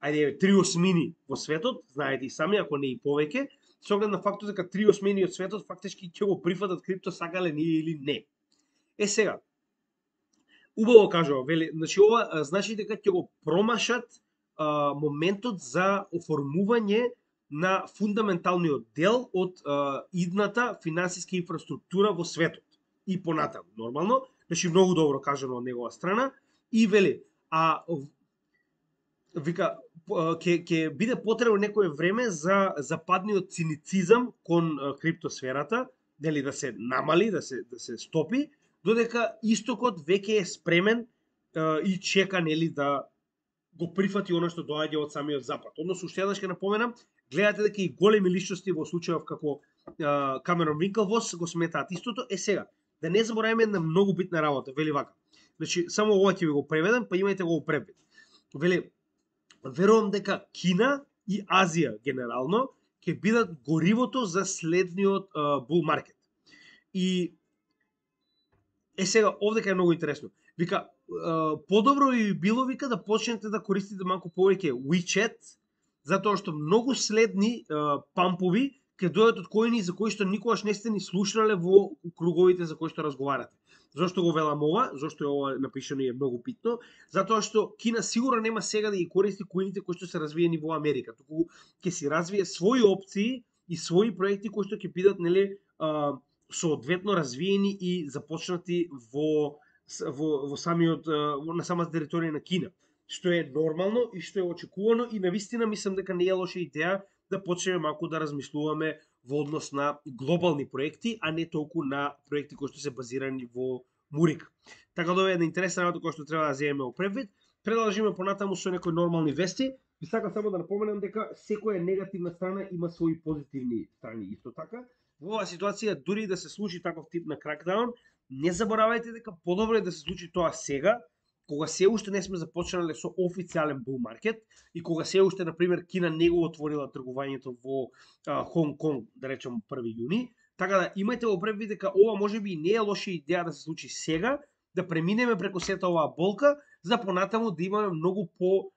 3/8 во светот, знаете и сами, ако не и повеќе, со оглед на фактот дека 3/8 од светот фактички ќе го прифатат крипто, сакале ние или не. Сега, убаво кажува, вели, значи ова значи дека ќе го промашат моментот за оформување на фундаменталниот дел од идната финансиска инфраструктура во светот. И понатаму, нормално, значи многу добро кажано од негова страна, и вели, вика, ќе биде потребно некое време за западниот циницизам кон криптосферата, дали да се намали, да се стопи, додека истокот веќе е спремен и чека, нели, да го прифати оно што доаѓа од самиот запад. Односно, уште еднаш ќе напоменам, гледате дека и големи личности во случајов како Камерон Винклвос го сметаат истото. Сега, да не забораваме една многу битна работа, вели вака. Значи, само ова ќе ви го преведам, па имајте го превед. Вели, верувам дека Кина и Азија генерално ќе бидат горивото за следниот бул маркет. И сега, овдека е многу интересно. Вика, подобро би било, вика, да почнете да користите малку повеќе WeChat, затоа што многу следни пампови ќе дојдат од коини за кои што никогаш не сте ни слушнале во круговите за кои што разговарате. Зошто го велам ова? Зошто е ова напишано и е многу битно? Затоа што Кина сигурно нема сега да ги користи коините кои што се развиени во Америка, туку ќе си развие своји опции и своји проекти кои што ќе бидат, нели, соодветно развиени и започнати во самиот на самата територија на Кина, што е нормално и што е очекувано, и навистина мислам дека не е лоша идеја да почнеме малку да размислуваме во однос на глобални проекти, а не толку на проекти кои што се базирани во Мурик. Така да е една интересна работа која што треба да земеме во предвид. Продолжиме понатаму со некои нормални вести. Ви сакам само да напоменам дека секоја негативна страна има своји позитивни страни исто така. Во оваа ситуација, дури да се случи таков тип на кракдаун, не заборавајте дека подобро е да се случи тоа сега, кога се уште не сме започнале со официјален бул маркет и кога се уште, например, Кина не го отворила тргувањето во Хонг Конг, да речем 1 јуни. Така да имајте во предвид дека ова можеби не е лоша идеја да се случи сега, да преминеме преку сета оваа болка, за понатаму да имаме многу по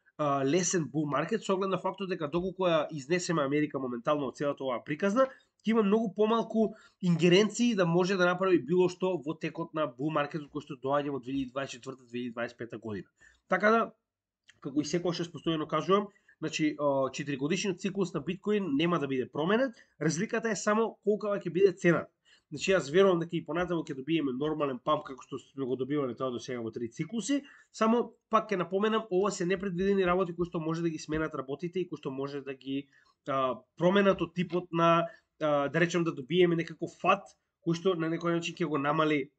лесен бул маркет, со оглед на фактот дека доколку ја изнесеме Америка моментално од целата оваа приказна, ќе има многу помалку ингеренции да може да направи било што во текот на бул маркетот кој што доаѓа во 2024-2025 година. Така да, како и секогаш постојано кажувам, значи 4-годишниот циклус на биткоин нема да биде променет, разликата е само колкава ќе биде цената. Значи јас верувам дека и понатаму ќе добиеме нормален памп како што сме го добивале тоа до сега во 3 циклуси, само пак ќе напоменам, ова се непредвидени работи кои што може да ги сменат работите и кои што може да ги променат од типот на да речем да добиеме некаков фат кој што на некој начин ќе го намали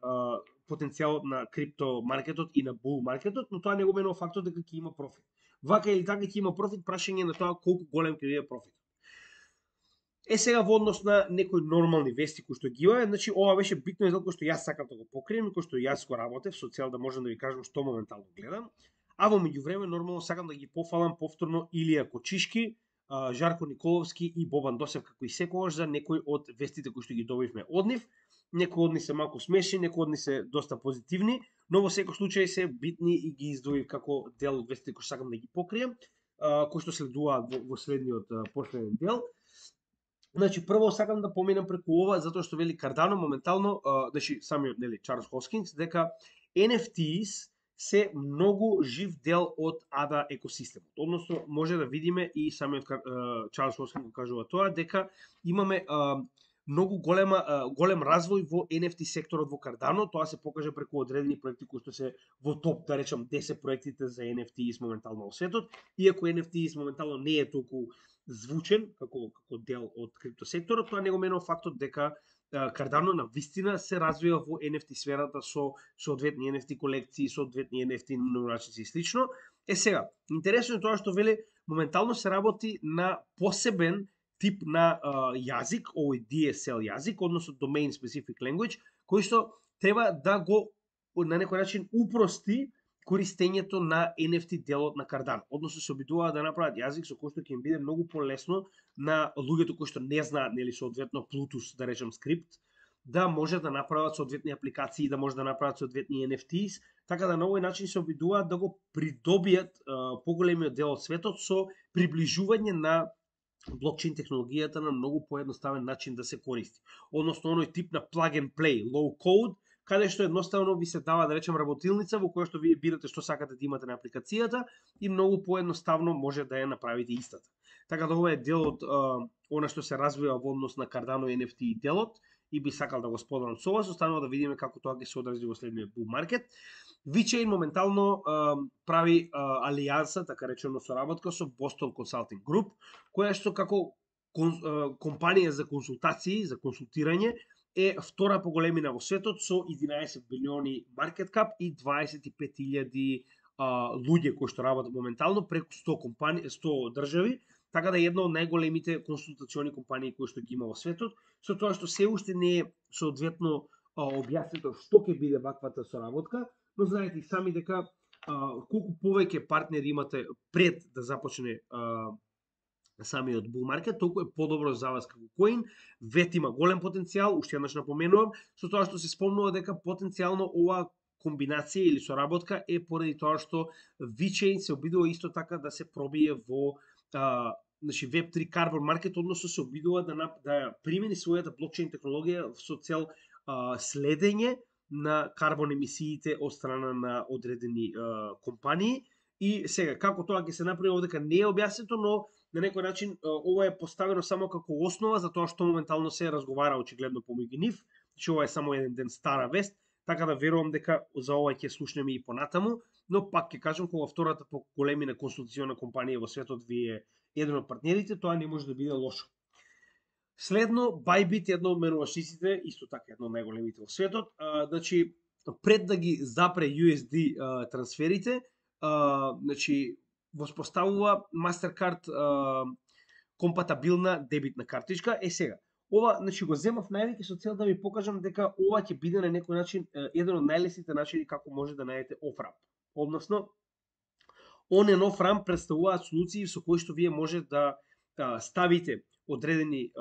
потенцијалот на крипто маркетот и на бул маркетот, но тоа не го менува фактот дека ќе има профит. Вака или така ќе има профит, прашање на тоа колку голем ќе биде профит. Сега во однос на некои нормални вести кои што ги има, значи ова беше битно дел кој што јас сакам да го покрием и кој што јас го работев со цел да можам да ви кажам што моментално гледам. А во меѓувреме нормално сакам да ги пофалам повторно Илија Кочишки, Жарко Николовски и Бобан Досев како и секогаш за некои од вестите кои што ги добивме од нив. Некои од нив се малку смешни, некои од нив се доста позитивни, но во секој случај се битни и ги издвоив како дел од вестите кои сакам да ги покрием, кои што следуваат во следниот последен дел. Значи прво сакам да поминам преку ова затоа што вели Кардано моментално, значи самиот нели Чарлс Хоскинс, дека NFTs се многу жив дел од ADA екосистемот. Односно може да видиме и самиот Чарлс Хоскинс го кажува тоа дека имаме многу голем развој во NFT секторот во Cardano. Тоа се покажа преку одредени проекти кои што се во топ, да речам, 10 проектите за NFTs моментално во светот. Иако NFTs моментално не е толку звучен како дел од криптосекторот, тоа не го менува фактот дека Cardano на вистина се развива во NFT сферата со соодветни NFT колекции, соодветни NFT нумерачници и слично. Сега, интересно е тоа што вели моментално се работи на посебен тип на јазик, овој DSL јазик, односно Domain Specific Language, кој што треба да го на некој начин упрости користењето на NFT делот на Cardano. Односно се обидуваат да направат јазик со кој што ќе им биде многу полесно на луѓето кои што не знаат, нели, соодветно Plutus, да речем, скрипт, да може да направат соодветни апликации, да може да направат соодветни NFTs, така да на овој начин се обидуваат да го придобијат поголемиот дел од светот со приближување на блокчейн технологијата на многу поедноставен начин да се користи. Односно оној тип на plug and play, low code, каде што едноставно ви се дава, да речем, работилница во која што вие бирате што сакате да имате на апликацијата и многу поедноставно може да ја направите истата. Така да ова е дел од она што се развива во однос на Cardano и NFT делот и би сакал да го споделам со вас, останува да видиме како тоа ќе се одрази во следниот bull market. VeChain моментално прави алијанса, така речено, соработка со Boston Consulting Group, која што како компанија за консултации, за консултирање, е втора по големина во светот со 11 билиони маркет кап и 25.000 луѓе кои што работат моментално преку 100 компании, 100 држави, така да е една од најголемите консултациони компании кои што ги има во светот, со тоа што се уште не е соодветно објаснето што ќе биде ваквата соработка, но знаете и сами дека колку повеќе партнери имате пред да започне самиот bull market, толку е подобро за вас како коин. VET има голем потенцијал, уште еднаш напоменувам, со тоа што се спомнува дека потенцијално ова комбинација или соработка е поради тоа што VeChain се обидува исто така да се пробие во значи Web3 Carbon Market, односно се обидува да примени својата блокчейн технологија со цел следење на карбон емисиите од страна на одредени компании. И сега, како тоа ќе се направи овдека не е објаснето, но на некој начин ова е поставено само како основа за тоа што моментално се разговара очигледно помеѓу нив. Значи ова е само еден ден стара вест, така да верувам дека за ова ќе слушнеме и понатаму, но пак ќе кажам, кога втората по големина консултациона компанија во светот ви е еден од партнерите, тоа не може да биде лошо. Следно, Bybit е едно од менувачниците, исто така едно од најголемите во светот. Значи, пред да ги запре USD трансферите, значи, воспоставува MasterCard компатабилна дебитна картичка. Сега, ова, значи, го земав највеќе со цел да ви покажам дека ова ќе биде на некој начин еден од најлесните начини како може да најдете off-ramp. Односно, on and off-ramp представуваат солуции со кои што вие може да ставите одредени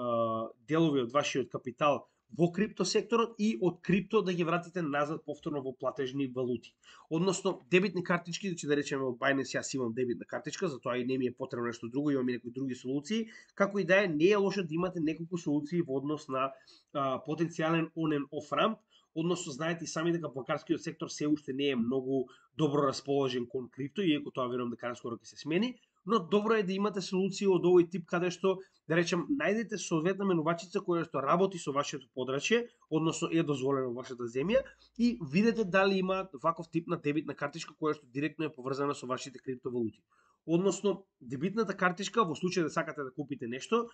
делови од вашиот капитал во криптосекторот и од крипто да ги вратите назад повторно во платежни валути. Односно, дебитни картички, значи да речеме од Binance јас имам дебитна картичка, затоа и не ми е потребно нешто друго, имам и некои други солуции, како и да е, не е лошо да имате неколку солуции во однос на потенцијален on and off ramp. Односно, знаете и сами дека банкарскиот сектор се уште не е многу добро расположен кон крипто, иако тоа верувам дека наскоро ќе се смени, но добро е да имате солуции од овој тип каде што, да речем, најдете соодветна менувачица која што работи со вашето подрачје, односно е дозволено во вашата земја, и видете дали има ваков тип на дебитна картичка која што директно е поврзана со вашите криптовалути. Односно, дебитната картичка во случај да сакате да купите нешто,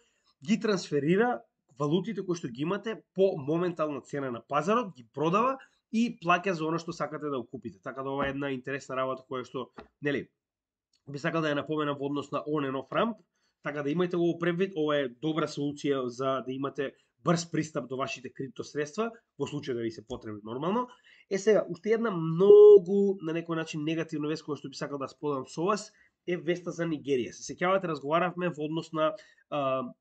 ги трансферира валутите кои што ги имате по моментална цена на пазарот, ги продава и плаќа за оно што сакате да го купите. Така да ова е една интересна работа која што, нели, би сакал да ја напоменам во однос на on and off ramp, така да имајте го предвид, ова е добра солуција за да имате брз пристап до вашите крипто средства, во случај да ви се потребни нормално. Сега, уште една многу на некој начин негативна вест која што би сакал да споделам со вас е веста за Нигерија. Се сеќавате, разговаравме во однос на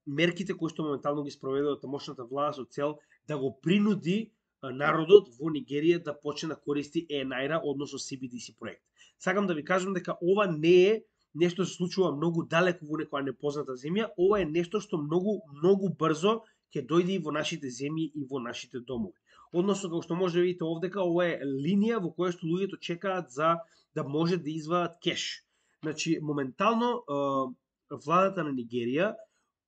мерките кои што моментално ги спроведува тамошната влада со цел да го принуди народот во Нигерија да почне да користи ENIRA, односно CBDC проект. Сакам да ви кажам дека ова не е нешто што се случува многу далеку во некоја непозната земја, ова е нешто што многу брзо ќе дојде и во нашите земји и во нашите домови. Односно, како што може да видите овдека, ова е линија во која што луѓето чекаат за да може да извадат кеш. Значи, моментално владата на Нигерија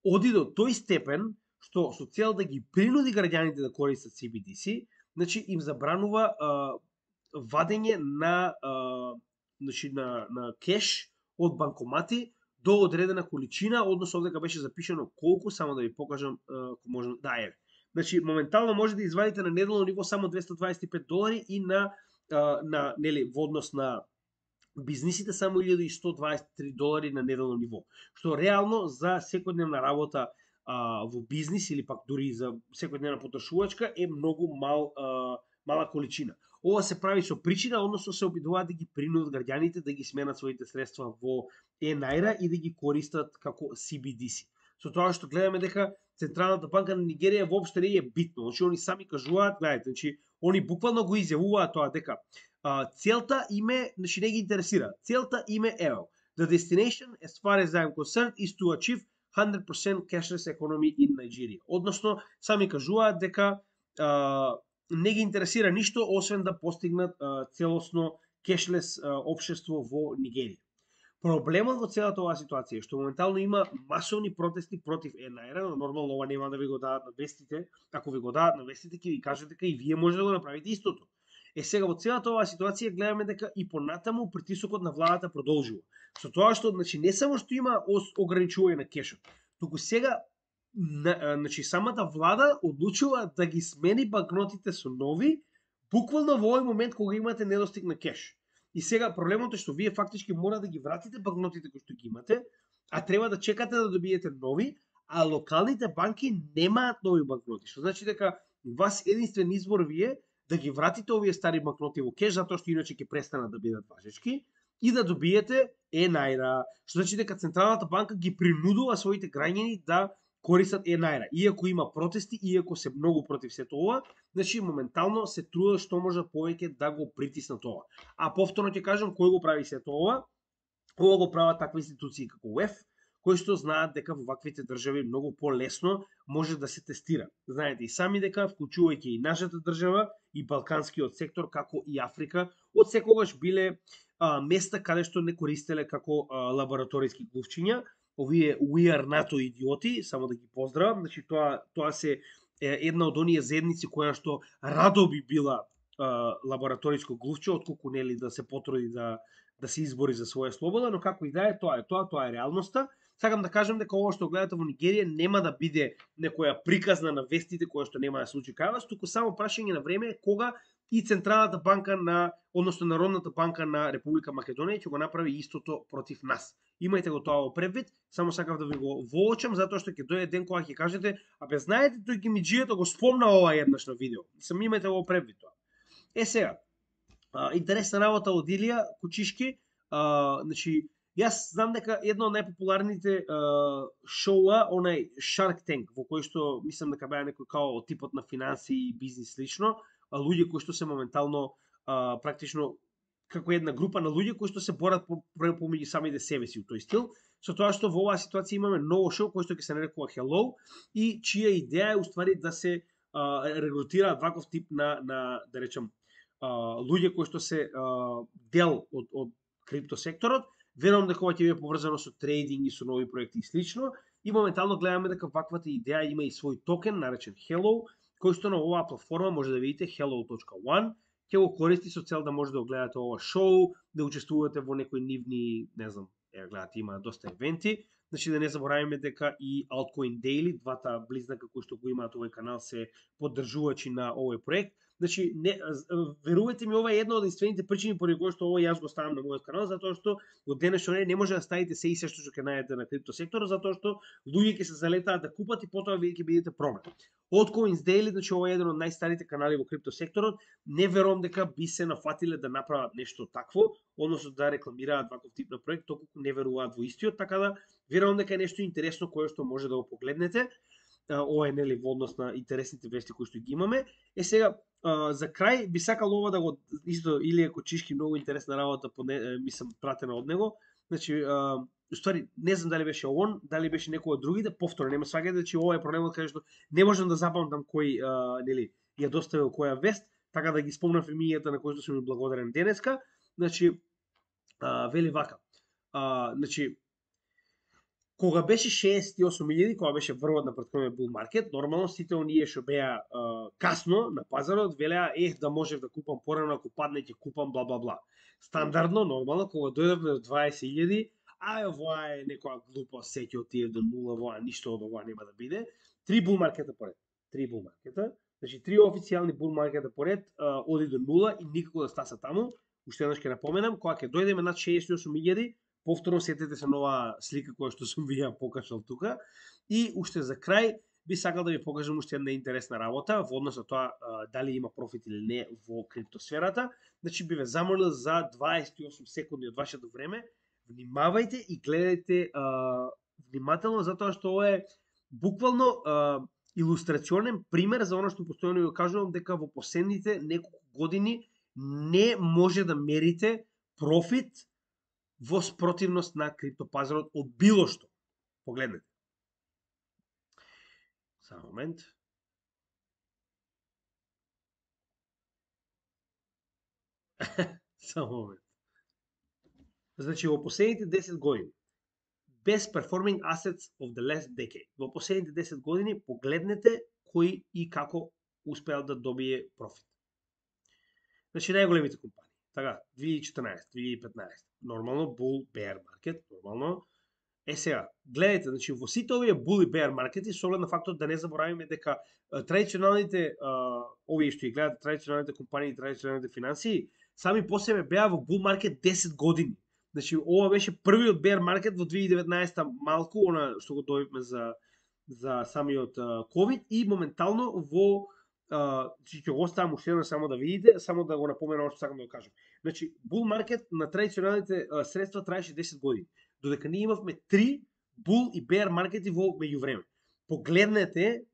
оди до тој степен што со цел да ги принуди граѓаните да користат CBDC, значи им забранува вадење на кеш од банкомати до одредена количина, односно овдека беше запишано колку, само да ви покажам, можам да е. Значи моментално може да извадите на неделно ниво само $225 и на нели во однос на бизнисите само $1123 на неделно ниво, што реално за секојдневна работа во бизнис или пак дури за секојдневна потрошувачка е многу мала количина. Ова се прави со причина, односно се обидуваат да ги принудат граѓаните да ги сменат своите средства во e-Naira и да ги користат како CBDC. Со тоа што гледаме дека Централната банка на Нигерија воопшто не е битно. Значи они сами кажуваат, гледате, значи они буквално го изјавуваат тоа дека целта име, значи не ги интересира. Целта име ево. The destination, as far as I'm concerned, is to achieve 100% cashless economy in Nigeria. Односно, сами кажуваат дека не ги интересира ништо освен да постигнат целосно кешлес општество во Нигерија. Проблемот во целата оваа ситуација е што моментално има масовни протести против e-Naira, но нормално ова нема да ви го дадат на вестите. Ако ви го дадат на вестите, ќе ви кажат дека и вие може да го направите истото. Сега во целата оваа ситуација гледаме дека и понатаму притисокот на владата продолжува. Со тоа што значи не само што има ограничување на кешот, туку сега значи самата влада одлучува да ги смени банкнотите со нови, буквално во овој момент кога имате недостиг на кеш. И сега проблемот е што вие фактички мора да ги вратите банкнотите кои што ги имате, а треба да чекате да добиете нови, а локалните банки немаат нови банкноти. Што значи дека вас единствен избор вие да ги вратите овие стари банкноти во кеш, затоа што иначе ќе престанат да бидат важечки, и да добиете e-Naira. Што значи дека Централната банка ги принудува своите граѓани да користат e-Naira. Иако има протести, иако се многу против сето ова, значи моментално се трудат што може повеќе да го притиснат ова. А повторно ќе кажам кој го прави сето ова. Ова го прават такви институции како УЕФ, кои што знаат дека во ваквите држави многу полесно може да се тестира. Знаете и сами дека, вклучувајќи и нашата држава, и балканскиот сектор, како и Африка, од секогаш биле места каде што не користеле како лабораториски глувчиња. Овие We Are НАТО идиоти, само да ги поздравам, значи тоа се една од оние заедници која што радо би била лабораториско глувче, отколку нели да се потруди да се избори за своја слобода, но како и да е, тоа е реалноста. Сакам да кажам дека ова што гледате во Нигерија нема да биде некоја приказна на вестите која што нема да се случи кај вас, туку само прашање на време кога и Централната банка односно Народната банка на Република Македонија ќе го направи истото против нас. Имајте го тоа во предвид, само сакав да ви го воочам, затоа што ќе дојде ден кога ќе кажете, абе знаете, тој Гимиџијето го спомна ова еднаш на видео. Сам имајте го во предвид тоа. Сега, интересна работа од Илија Кучишки, значи, јас знам дека едно од најпопуларните шоуа, онај Shark Tank, во кој што мислам дека беа некој као типот на финанси и бизнис лично, луѓе кои што се моментално практично како една група на луѓе кои што се борат помеѓу самите себе си у тој стил, со тоа што во оваа ситуација имаме ново шоу кој што ќе се нарекува Hello и чија идеја е уствари да се регрутираат ваков тип на да речем луѓе кои што се дел од криптосекторот. Верувам дека ова ќе биде поврзано со трейдинг и со нови проекти и слично. И моментално гледаме дека ваквата идеја има и свој токен наречен Hello, кој што на оваа платформа може да видите hello.one, ќе го користи со цел да може да го гледате ова шоу, да учествувате во некои нивни, не знам, гледате има доста евенти. Значи да не забораваме дека и Altcoin Daily, двата близнака кои што го имаат овој канал, се поддржувачи на овој проект. Значи, верувајте ми, ова е една од единствените причини поради кои што ова јас го ставам на мојот канал, затоа што во денешно време не може да ставите се и се што ќе најдете на криптосекторот, затоа што луѓе ќе се залетаат да купат и потоа вие ќе бидете проблем. Altcoins Daily, значи ова е еден од најстарите канали во криптосекторот, не верувам дека би се нафатиле да направат нешто такво, односно да рекламираат ваков тип на проект, толку не веруваат во истиот, така да верувам дека е нешто интересно кое што може да го погледнете. Ова е нели во однос на интересните вести кои што ги имаме. Сега за крај би сакал ова да го исто Илија Кучишки, многу интересна работа, мислам пратена од него. Значи уствари не знам дали беше он, дали беше некој од другите, повторно нема сваќате, значи ова е проблемот каде што не можам да запамтам кој нели ја доставил која вест, така да ги спомнам имињата на кои што сум ми благодарен денеска. Значи вели вака. Значи Кога беше 68.000, кога беше врвот на претходниот бул маркет, нормално сите оние што беа касно на пазарот велеа да можев да купам порано, ако падне ќе купам бла бла бла. Стандардно, нормално, кога дојдовме до 20.000, ова е некоја глупост, се ќе отиде до нула, ова ништо од ова нема да биде. 3 бул маркета поред. 3 бул маркета. Значи 3 официјални бул маркета поред оди до нула и никако да стаса таму. Уште еднаш ќе напоменам, кога ќе дојдеме над 68.000, повторно сетете се на оваа слика која што сум ви ја покажал тука. И уште за крај би сакал да ви покажам уште една интересна работа во однос на тоа дали има профит или не во криптосферата. Значи би ве замолил за 28 секунди од вашето време. Внимавајте и гледајте внимателно, затоа што ова е буквално илустрационен пример за оно што постојано ви кажувам, дека во последните неколку години не може да мерите профит во спротивност на криптопазарот од било што. Погледнете. Само момент. Само момент. Значи, во последните 10 години, best performing assets of the last decade. Во последните 10 години погледнете кои и како успеал да добие профит. Значи, најголемите компании. Така, 2014, 2015. Нормално, bull, bear market, нормално. Сега, гледайте, значи, во сите овие bull и bear маркети, со оглед на фактот да не заборавиме дека традиционалните, овие што ги гледат, традиционалните компании, традиционалните финансии, сами по себе беа во bull маркет 10 години. Значи, ова беше првиот bear маркет во 2019 малку, она што го добивме за самиот COVID и моментално во ќе го оставам уште едно само да видите, само да го напоменам што сакам да го кажам. Значи, bull маркет на традиционалните средства траеше 10 години, додека ние имавме 3 bull и bear маркети во меѓувреме. Погледнете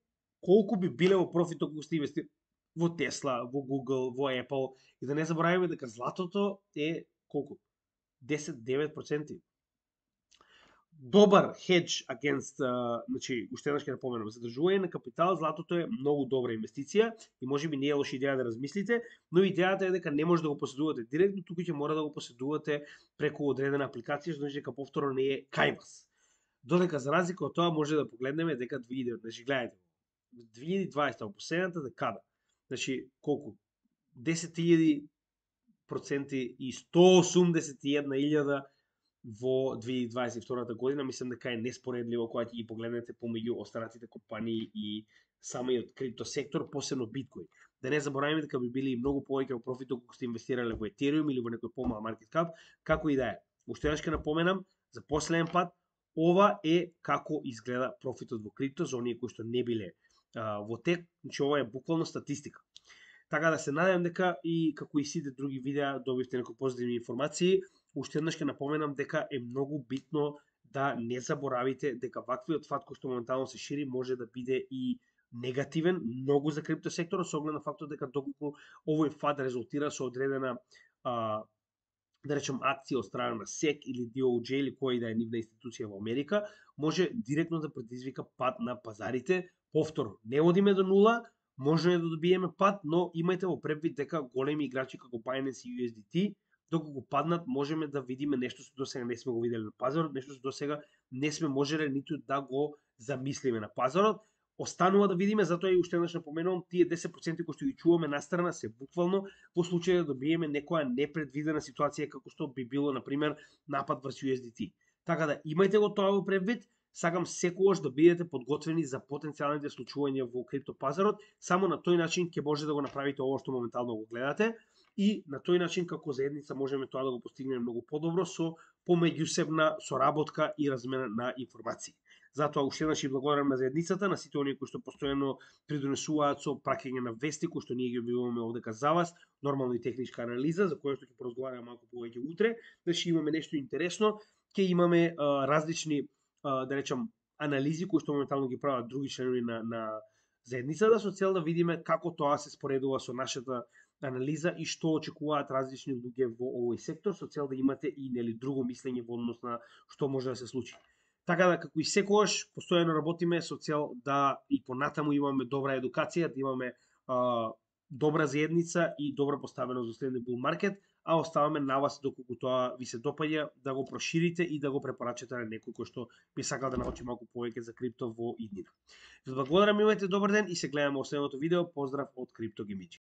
колку би биле во профит ако сте инвестирали во Tesla, во Google, во Apple и да не забораваме дека златото е колку? 10-9%. Добар хедж against, значи, уште еднаш ќе напоменам, задржување на капитал, златото е многу добра инвестиција и можеби не е лоша идеја да размислите, но идејата е дека не може да го поседувате директно, туку ќе мора да го поседувате преку одредена апликација, значи дека повторно не е кај вас. Додека за разлика од тоа може да погледнеме дека 2019, значи гледате, 2020 во последната декада, значи колку? 10.000% и 181.000 во 2022 година, мислам дека е неспоредливо кога ќе ги погледнете помеѓу останатите компании и самиот криптосектор, посебно биткоин. Да не забораваме дека би били многу повеќе во профит ако сте инвестирале во Ethereum или во некој помал маркет кап, како и да е. Уште еднаш ќе напоменам за последен пат, ова е како изгледа профитот во крипто за оние кои што не биле во тек, значи ова е буквално статистика. Така да се надевам дека и како и сите други видеа добивте некои позитивни информации. Уште еднаш ќе напоменам дека е многу битно да не заборавите дека ваквиот фат кој што моментално се шири може да биде и негативен многу за криптосекторот со оглед на фактот дека доколку овој фат резултира со одредена да речем акција од страна на SEC или DOJ или која и да е нивна институција во Америка, може директно да предизвика пад на пазарите. Повторно, не одиме до нула, може да добиеме пад, но имајте во предвид дека големи играчи како Binance и USDT, доколку паднат, можеме да видиме нешто што досега не сме го виделе на пазарот, нешто што досега не сме можеле ниту да го замислиме на пазарот. Останува да видиме, затоа и уште еднаш напоменувам, тие 10% кои што ги чуваме настрана се буквално во случај да добиеме некоја непредвидена ситуација како што би било, например, напад врз USDT. Така да имајте го тоа во предвид. Сакам секогаш да бидете подготвени за потенцијалните случувања во криптопазарот. Само на тој начин ќе може да го направите ово што моментално го гледате и на тој начин како заедница можеме тоа да го постигнеме многу подобро со помеѓусебна соработка и размена на информации. Затоа уште еднаш и благодарам на заедницата, на сите оние кои што постојано придонесуваат со праќање на вести кои што ние ги објавуваме овдека за вас, нормално и техничка анализа за која што ќе поразговараме малку повеќе утре, значи имаме нешто интересно, ќе имаме различни да речам анализи кои што моментално ги прават други членови на заедницата со цел да видиме како тоа се споредува со нашата анализа и што очекуваат различни луѓе во овој сектор со цел да имате и нели друго мислење во однос на што може да се случи. Така да како и секогаш постојано работиме со цел да и понатаму имаме добра едукација, да имаме добра заедница и добра поставеност за следниот бул маркет, а оставаме на вас доколку тоа ви се допаѓа да го проширите и да го препорачате на некој кој што би сакал да научи малку повеќе за крипто во иднина. Ви благодарам, имајте добар ден и се гледаме во следното видео. Поздрав од Крипто Гемичи.